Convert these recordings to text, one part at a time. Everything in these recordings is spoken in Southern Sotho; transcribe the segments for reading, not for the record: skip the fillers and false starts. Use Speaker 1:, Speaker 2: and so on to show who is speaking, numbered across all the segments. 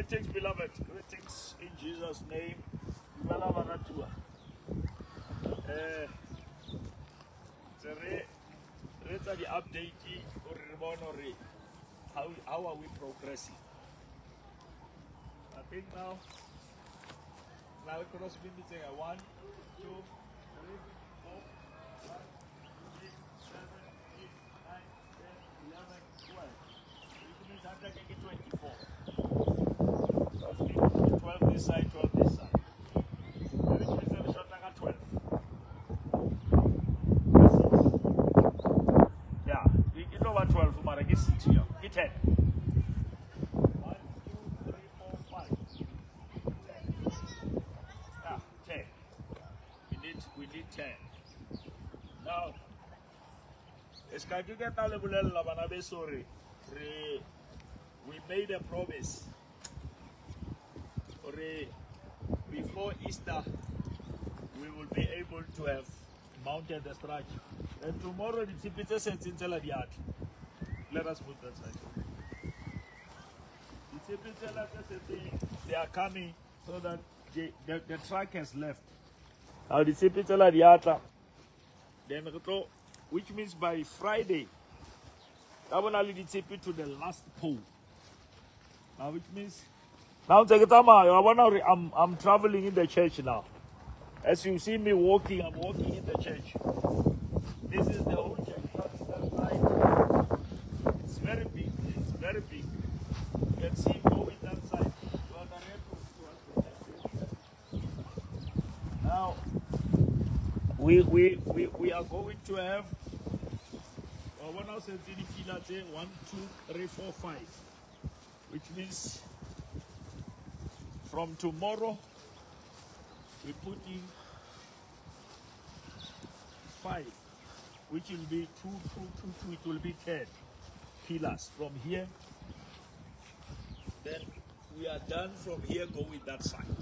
Speaker 1: Greetings, beloved. Greetings in Jesus' name. Dumela baratuwa. Tse re etsa di-update hore re bone hore how are we progressing. I think now cross beam tse 1 2 3 4 5 6 7 8 9 10 11 12. Which means after ke 24. 12 this side, 12 this side. Which means I'm short like 12. Yeah, it's over 12, but I guess 6 here. It's 10. 1, 2, 3, 4, 5. 10. Yeah, 10. We need 10. Now, we made a promise. Before Easter, we will be able to have mounted the structure. And tomorrow, the tshipi tse setseng tsela di atla. Let us move that side. The tshipi tsela tse setseng, they are coming so that the truck has left. Now the tshipi tsela di atla. Then which means by Friday, to the last pole. Now which means now I'm traveling in the church now. As you see me walking, I'm walking in the church. This is the whole church. That's that side. It's very big. It's very big. You can see going that side. Now we are going to have 1, 2, 3, 4, 5, which means from tomorrow, we put in 5, which will be 2, 2, 2, 2, it will be 10 pillars from here. Then we are done from here, going that side.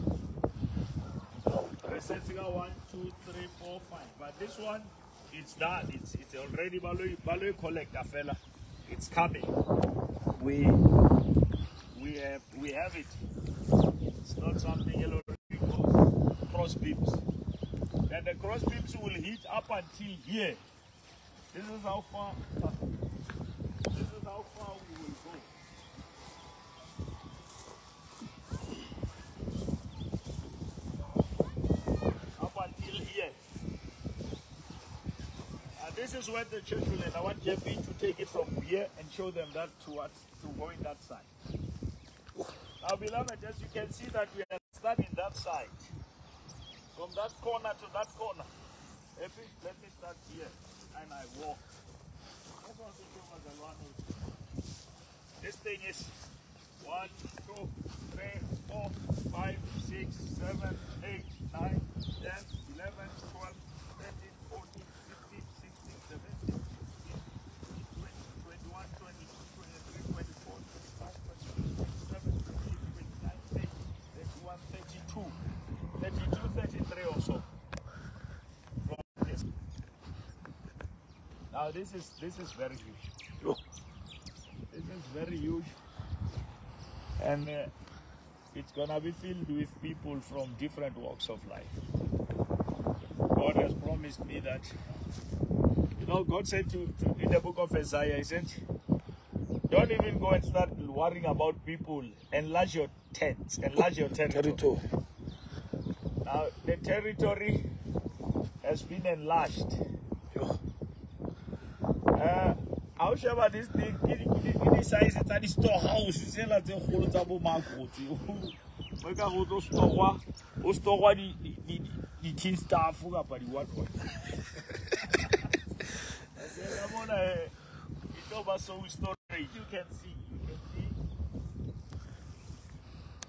Speaker 1: Resetting 1, 2, 3, 4, 5. But this one, it's done. It's already Baloy collector fella. It's coming. We have it. It's not something yellow cross beams. And the cross beams will hit up until here. This is how far. This is how far we will go. Up until here. And this is where the church will end. I want Jeffy to take it from here and show them that towards to going that side. Now, beloved, as you can see that we are starting that side. From that corner to that corner. Let me start here and I walk. This thing is 1, 2, 3, 4, 5, 6, 7, 8, 9, 10, 11, 12, 13, 14, 15, 16, 17, 18, 20, 21, 22, 23, 24, 25, 26, 27, 28, 29, 30, 31, 32. 32, 33 also. From this. Now this is very huge. This is very huge, and it's gonna be filled with people from different walks of life. God has promised me that. You know, God said to in the book of Isaiah, He said, "Don't even go and start worrying about people. Enlarge your tents. Enlarge your territory." Now, the territory has been enlarged. How shall this thing? This size it's a storehouse. It's a whole store. The tin staff what. Storage. You can see.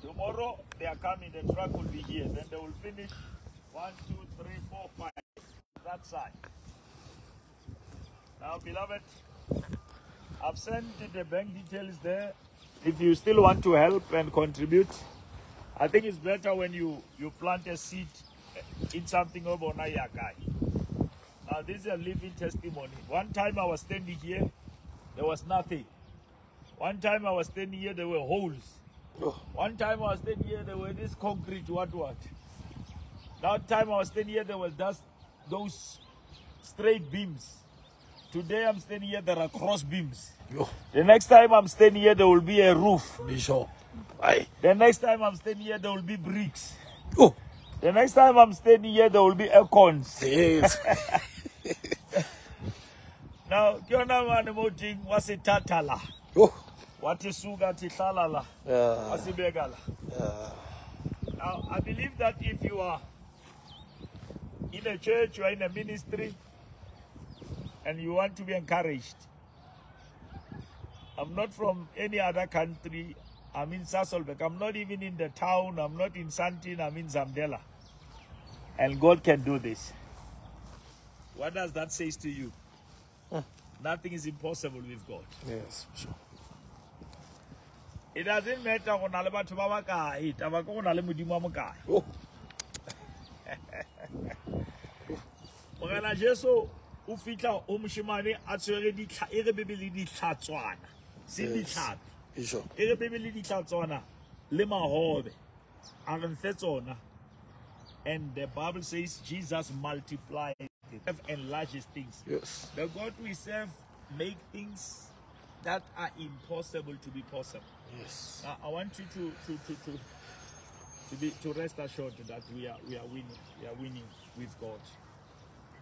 Speaker 1: Tomorrow they are coming, the truck will be here. Then they will finish 1, 2, 3, 4, 5. That side. Now, beloved, I've sent the bank details there. If you still want to help and contribute, I think it's better when you plant a seed in something over Nayakai. Now, this is a living testimony. One time I was standing here, there was nothing. One time I was standing here, there were holes.
Speaker 2: Oh.
Speaker 1: One time I was standing here, there were this concrete, what. That time I was standing here, there were just those straight beams. Today I'm standing here, there are cross beams.
Speaker 2: Yo.
Speaker 1: The next time I'm standing here, there will be a roof.
Speaker 2: Bishop. Aye.
Speaker 1: The next time I'm standing here, there will be bricks.
Speaker 2: Oh.
Speaker 1: The next time I'm standing here, there will be aircons.
Speaker 2: Yes.
Speaker 1: Now, ke yona mane mo teng wa sethathala.
Speaker 2: Oh.
Speaker 1: Wa tisuka tihlala la.
Speaker 2: Yeah.
Speaker 1: Wa sibeka la.
Speaker 2: Yeah.
Speaker 1: Now, I believe that if you are in a church, you are in a ministry, and you want to be encouraged. I'm not from any other country. I'm in Sasolburg. I'm not even in the town. I'm not in Sandton. I'm in Zamdela. And God can do this. What does that say to you? Nothing is impossible with God.
Speaker 2: Yes, sure.
Speaker 1: It doesn't matter go na le batho ba ba kae, taba ke go na le Modimo wa mokae.
Speaker 2: Oh.
Speaker 1: Morena Jesu o fihla o moshemane a tshwere ditlha e re Bibele ditlhatswana, se ditlhapi.
Speaker 2: Bishop.
Speaker 1: E re Bibele ditlhatswana le mahobe. A re nfe tsona. And the Bible says Jesus multiplied and enlarges things.
Speaker 2: Yes.
Speaker 1: The God we serve make things that are impossible to be possible.
Speaker 2: Yes.
Speaker 1: Now, I want you to rest assured that we are winning. We are winning with God.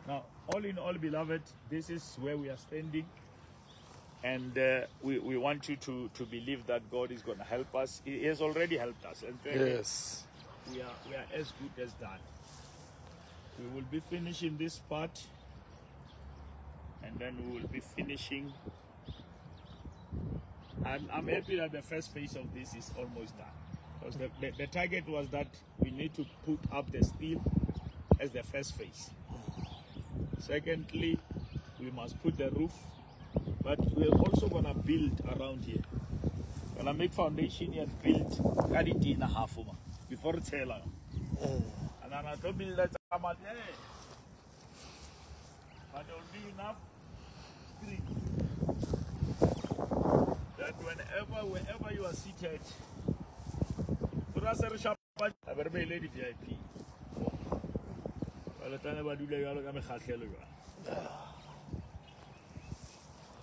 Speaker 1: Now, all in all, beloved, this is where we are standing, and we want you to believe that God is going to help us. He has already helped us. In fact,
Speaker 2: yes,
Speaker 1: we are as good as done. We will be finishing this part, and then we will be finishing. I'm happy that the first phase of this is almost done, because the target was that we need to put up the steel as the first phase. Secondly, we must put the roof, but we're also gonna build around here. Gonna make foundation here and build half before it's hell. And I'm gonna build that, but there will be enough screen that wherever you are seated, VIP.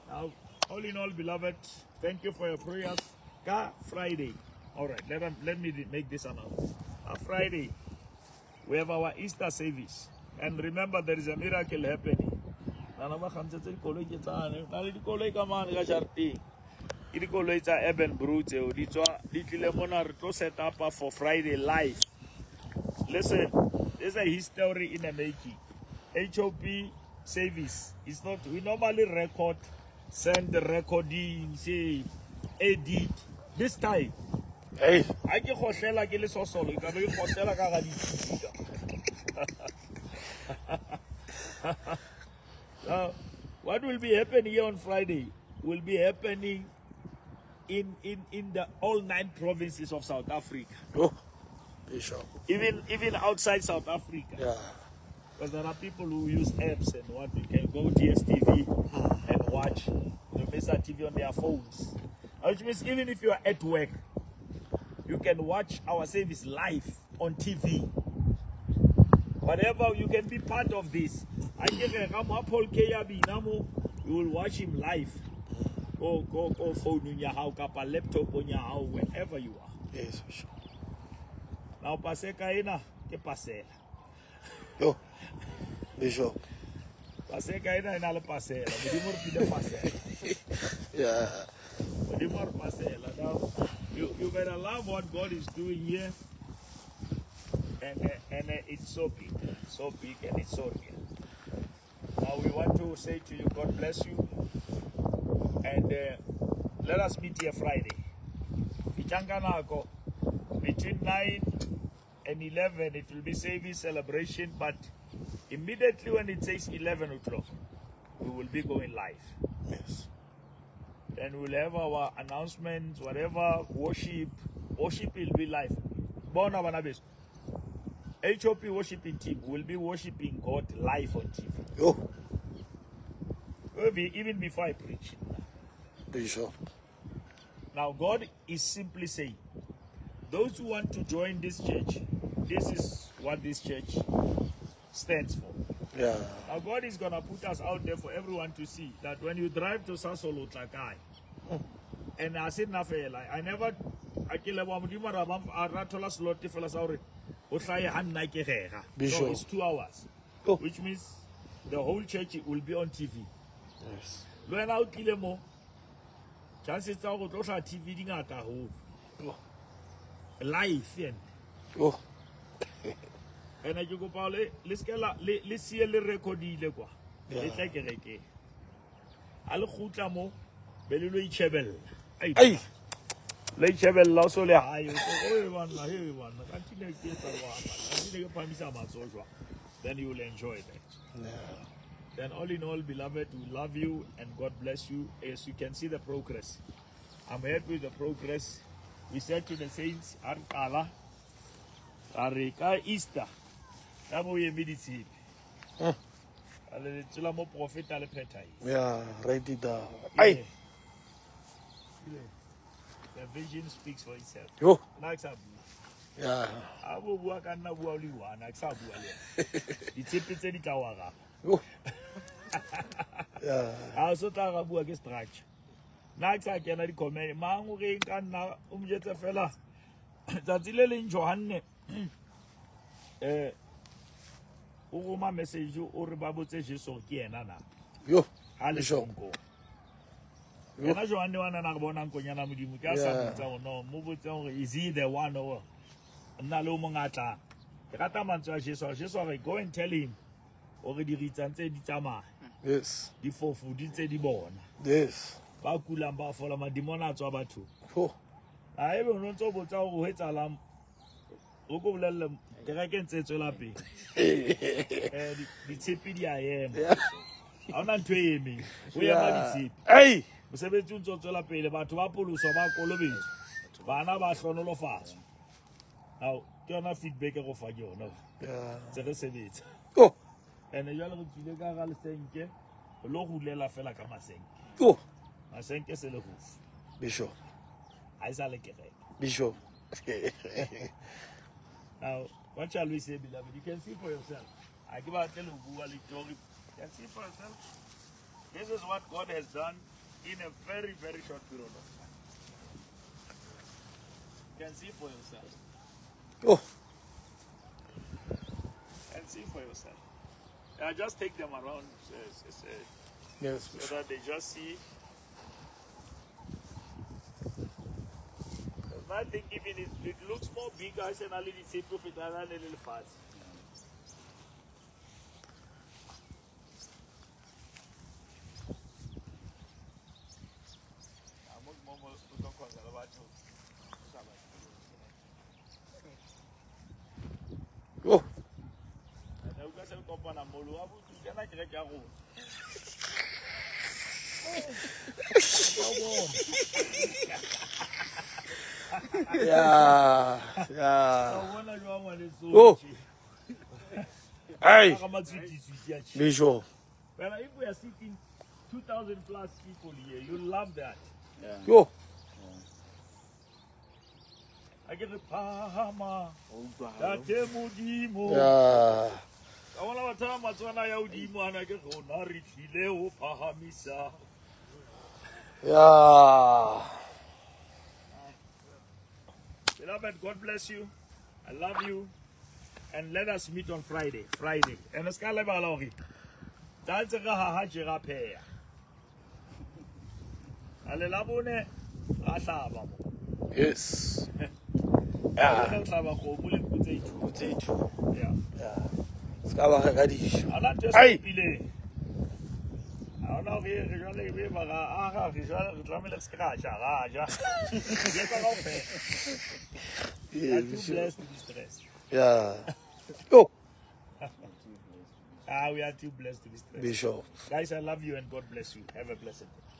Speaker 1: Now, all in all, beloved, thank you for your prayers. Ka Friday. All right, let me make this announcement. Friday, we have our Easter service. And remember, there is a miracle happening. Set up for Friday live. Listen, there's a history in the making. HOP service is not, we normally record, send the recording, say, edit. This time,
Speaker 2: hey,
Speaker 1: I can khohlela ke le sosolo, ke be khohlela ka ga di. Now, what will be happening here on Friday will be happening in the all 9 provinces of South Africa.
Speaker 2: Oh, Bishop.
Speaker 1: Even outside South Africa.
Speaker 2: Yeah.
Speaker 1: Because there are people who use apps and what, you can go DSTV and watch the Mesa TV on their phones. Which means even if you are at work, you can watch our service live on TV. Whatever, you can be part of this. You will watch him live. Go phone in your house, laptop on your house, wherever you are.
Speaker 2: Yes, sure.
Speaker 1: Now paseka ena ke pasela.
Speaker 2: Yo. Bishop.
Speaker 1: Paseka ena ena le pasela. Modimo re file pasela.
Speaker 2: Yeah.
Speaker 1: Modimo re pasela. Now you better love what God is doing here. And it's so big. So big and it's so real. Now we want to say to you, God bless you. And let us meet here Friday. Between 9 and 11, it will be service celebration, but immediately when it says 11 o'clock, we will be going live.
Speaker 2: Yes.
Speaker 1: Then we'll have our announcements, whatever, worship. Worship will be live. Bona bana beso. HOP worshiping team will be worshiping God live on TV.
Speaker 2: Oh.
Speaker 1: Will be even before I preach.
Speaker 2: Bishop.
Speaker 1: Now God is simply saying, Those who want to join this church, this is what this church stands for.
Speaker 2: Yeah.
Speaker 1: Now God is gonna put us out there for everyone to see that when you drive to Sasol o tla kae. And I said nna fela, I never a ke leboha Modimo ra ba a ra thola slot fela sa hore o hlahe ha nna ke rera.
Speaker 2: Bishop.
Speaker 1: No, it's 2 hours.
Speaker 2: Oh.
Speaker 1: Which means the whole church will be on TV.
Speaker 2: Yes.
Speaker 1: Le wena o tlile mo, chances tsa hore o tlo hlaha TV di ngata haholo.
Speaker 2: Oh.
Speaker 1: Live and
Speaker 2: Oh.
Speaker 1: ene ke kopa le se ke la le siye le recordile kwa.
Speaker 2: Yeah.
Speaker 1: Le tle kerekeng. Ha le kgutla mo, be le lo itjhebella. Ai.
Speaker 2: Ai.
Speaker 1: Le itjhebella o so le hae, o so, "Oi banna, hey banna, kanti ne ke etsa jwang? Kanti ne ke phamisa matsoho jwang?" Then you will enjoy that.
Speaker 2: Yeah.
Speaker 1: Then all in all, beloved, we love you and God bless you. As you can see the progress. I'm happy with the progress. We said to the saints, ha re qala, ra re ka Easter, ka bo eme ditshepe. A le lentswe la moprofeta le phethahetse.
Speaker 2: Yeah, write it down. Ai.
Speaker 1: The vision speaks for itself.
Speaker 2: Yo.
Speaker 1: Nna ke sa bua.
Speaker 2: Yeah.
Speaker 1: Ha bo bua ka nna bua o le one, ha ke sa bua le yena. Ditshepe tse di tla o araba.
Speaker 2: Yo. Yeah.
Speaker 1: Ha o so tla ra bua ke structure. Nna ke sa kena di-comment, mang o reng ka nna, o mo jwetse fela. Tsatsi le leng Johanne, o roma message o re ba botse Jesu hore ke yena na.
Speaker 2: Yo.
Speaker 1: Ha le
Speaker 2: Bishop.
Speaker 1: tlonkong. Yena Johanne wa nana re bonang konyana Modimo, ke a sa
Speaker 2: Yeah.
Speaker 1: botsa hore no, mo botse hore is he the one or nna le o mong a tlang. Ke rata mantswe a Jesu, Jesu a re go and tell him hore diritsa ntse di tsamaya,
Speaker 2: Yes.
Speaker 1: difofu di ntse di bona.
Speaker 2: Yes.
Speaker 1: Ba kulang ba fola, madimona a tswa bathong.
Speaker 2: Oh.
Speaker 1: A ebe o no ntso botsa hore ho etsahalang, o ko bolelle kereke ntse e tswela pele. Ditshepe di a ema. Ha hona ntho e emeng. Ho ema ditshepe.
Speaker 2: Ai.
Speaker 1: Mosebetsi o ntso tswela pele, batho ba poloswa, ba kolobetswa, bana ba hlonolofatswa. Now, ke yona feedback e go fa ke yona.
Speaker 2: Yeah.
Speaker 1: Tse re sebetsa.
Speaker 2: Oh.
Speaker 1: Ene jwale re tswile ka hara lesenke, re lo hulela fela ka masenke.
Speaker 2: Oh.
Speaker 1: Masenke se le rufu.
Speaker 2: Bishop.
Speaker 1: Ha e sa le kereke.
Speaker 2: Bishop.
Speaker 1: Now, what shall we say, beloved? You can see for yourself. I give out le bua le story. You can see for yourself. This is what God has done in a very, very short period of time. You can see for yourself.
Speaker 2: Oh.
Speaker 1: You can see for yourself. I just take them around,
Speaker 2: Yes,
Speaker 1: so that they just see. I think even it looks more bigger as an already say prophet than a little fast.
Speaker 2: Oh. Yeah. Yeah. Oh. Hey. Bishop.
Speaker 1: Well, if we are sitting 2,000 plus people here, you love that.
Speaker 3: Yeah.
Speaker 2: Yo.
Speaker 1: I get the Pahama. Tate Modimo.
Speaker 2: Yeah.
Speaker 1: Ka bona batho ba matswana ya hodimo ana ke rona re tlile ho phahamisa.
Speaker 2: Yeah.
Speaker 1: Beloved, God bless you. I love you. And let us meet on Friday. Friday. And es ka lebala hore tsatsi re haha tje ra pheha. A le la bone ra hlaba mo.
Speaker 2: Yes.
Speaker 1: Yeah. Re hlaba kgomo le nku tse two.
Speaker 2: Tse two.
Speaker 1: Yeah.
Speaker 2: Yeah. Se ka ba reka dijo.
Speaker 1: Ha hona ntho e
Speaker 2: Ai.
Speaker 1: stopileng. Ha hona hore re jwale e be ba ra aha, re jwale re tlamehile re se ke ra ja, ra ja. Re etsa kaofela. We are too blessed to be stressed.
Speaker 2: Yeah. Oh.
Speaker 1: We are too blessed to be stressed.
Speaker 2: Bishop.
Speaker 1: Guys, I love you and God bless you. Have a blessed day.